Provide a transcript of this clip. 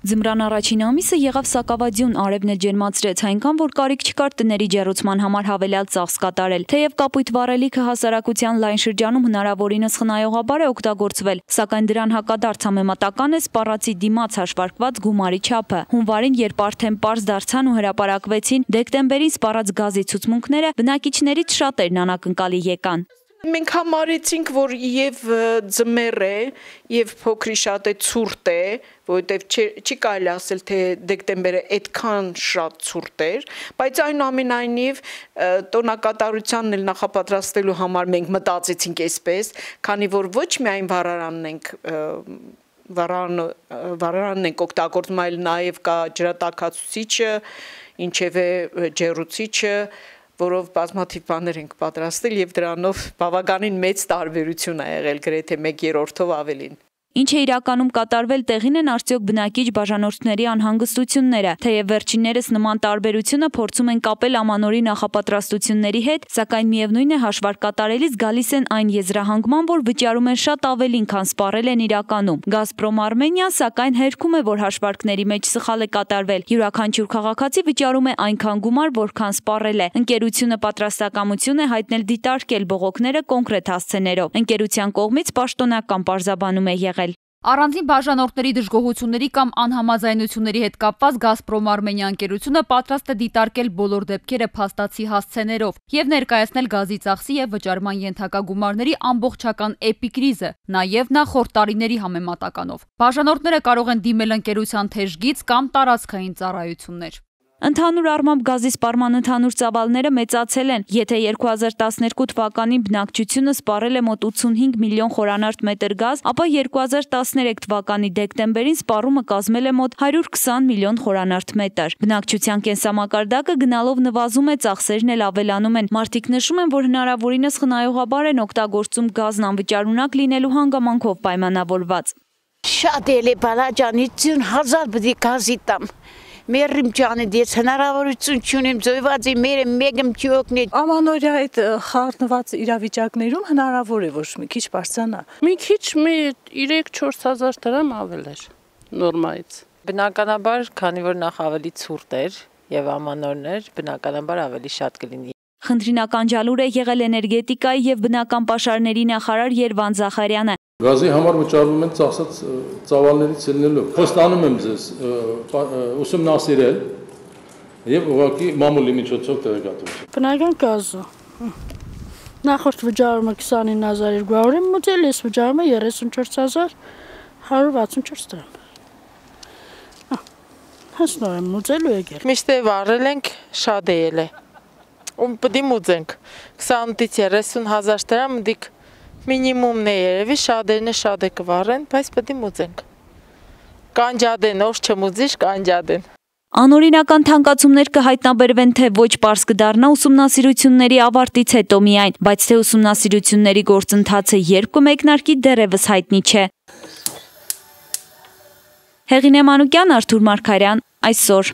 Ձմռան առաջին ամիսը եղավ սակավադյուն, արևն էլ ջերմացրեց, այնքան որ կարիք չկար տների ջեռուցման համար հավելյալ ծախս կատարել։ Թեև կապույտ վառելիքը հասարակության լայն շրջանում հնարավորինս խնայողաբար է օգտագործվել, սակայն դրան հակադարձ համեմատական է սպառածի դիմաց հաշվարկված գումարի չափը։ Հունվարին, երբ արդեն պարզ դարձան ու հրապարակվեցին դեկտեմբերին սպառած գազի ցուցմունքները, բնակիչներից շատերն անակնկալի եկան։ Մենք համարեցինք, որ եւ ձմեռ է, եւ փոքրի շատ է ցուրտ է, որովհետեւ չի կարելի ասել, թե դեկտեմբերը այդքան շատ ցուրտ էր, բայց այնուամենայնիվ տոնակատարությանն էլ նախապատրաստելու համար մենք մտածեցինք այսպես, քանի որ ոչ միայն վառարանն ենք օգտագործում, այլ նաեւ կա ջրատաքացուցիչը, ինչևէ ջեռուցիչը, որով բազմաթիվ բաներ ենք պատրաստել եւ դրանով բավականին մեծ տարբերություն է եղել, գրեթե 1/3-ով ավելին։ Ինչ է իրականում կատարվել, տեղին են արդյոք բնակիչ բաժանորդների անհանգստությունները, թեև վերջիններս նման տարբերությունը փորձում են կապել ամանորի նախապատրաստությունների հետ, սակայն միևնույն է հաշվարկ կատարելիս գալիս են այն եզրահանգման, որ վճարում են շատ ավելին, քան սպառել են իրականում։ Գազպրոմ Արմենիան սակայն հերքում է, որ հաշվարկների մեջ սխալ է կատարվել։ Յուրաքանչյուր քաղաքացի վճարում է այնքան գումար, որքան սպառել է։ Ընկերությունը պատրաստակամություն է հայտնել դիտարկել բողոքները կոնկրետ հասցեներով։ Ընկերության կողմից պաշտոնական պարզաբանում է եղել։ Առանձին բաժանորդների դժգոհությունների կամ անհամաձայնությունների հետ կապված Գազպրոմ Արմենիա ընկերությունը պատրաստ է դիտարկել բոլոր դեպքերը փաստացի հասցեներով եւ ներկայացնել գազի ծախսի եւ վճարման ենթակա գումարների ամբողջական էպիկրիզը, նաեւ նախորդ տարիների համեմատականով։ Բաժանորդները կարող են դիմել ընկերության թեժգից կամ տարածքային ծառայություններ։ Ընդհանուր առմամբ գազի սպառման ընդհանուր ծավալները մեծացել են, եթե 2012 թվականին բնակչությունը սպառել է մոտ 85 միլիոն խորանարդ մետր գազ, ապա 2013 թվականի դեկտեմբերին սպառումը կազմել է մոտ 120 միլիոն խորանարդ մետր։ Բնակչության կենսամակարդակը գնալով նվազում է, ծախսերն էլ ավելանում են։ Մարդիկ նշում են, որ հնարավորինս խնայողաբար են օգտագործում գազն անվճարունակ լինելու հանգամանքով պայմանավորված։ Շատ էլ է բալաջանի 50,000 բդի գազի տամ։ Մերիմ ջանը դից հնարավորություն չունեմ զոհվածի մերը մեկում չօգնի։ Ամանորյա այդ խառնված իրավիճակներում հնարավոր է ոչ մի քիչ բարձրանա։ Մի քիչ 3-4,000 դրամ ավել էր նորմայից։ Բնականաբար, քանի որ նախ ավելի ցուրտ էր եւ ամանորներ, բնականաբար ավելի շատ կլինի։ Խնդրին ականջալուր է եղել էներգետիկայի եւ բնական պաշարների նախարար Երվան Զախարյանը։ Գազի համար վճարվում են ծախսած ծավալներից ելնելով։ Խոստանում եմ ձեզ ուսումնասիրել եւ ուղղակի մամուլի միջոցով տեղեկատվություն։ Բնական գազը նախորդ վճարումը 29200 եմ մտել, ես վճարումը 34164 դրամ։ Հենց նոր եմ մուծել ու եկել։ Միշտ է վառել ենք, շատ է ելել։ Ու պետք է մուծենք 28-ից 30,000 դրամ դիք մինիմումն է երևի, շատերն է շատ է կվառեն, բայց պետք է մուծենք։ Կանջադեն, ով չմուծիշ, կանջադեն։ Անօրինական թանկացումներ կհայտնաբերվեն, թե ոչ պարզ կդառնա ուսումնասիրությունների ավարտից հետո միայն, բայց թե ուսումնասիրությունների գործընթացը երբ կմեկնարկի դեռևս հայտնի չէ։ Հեղինե Մանուկյան, Արթուր Մարգարյան, այսօր։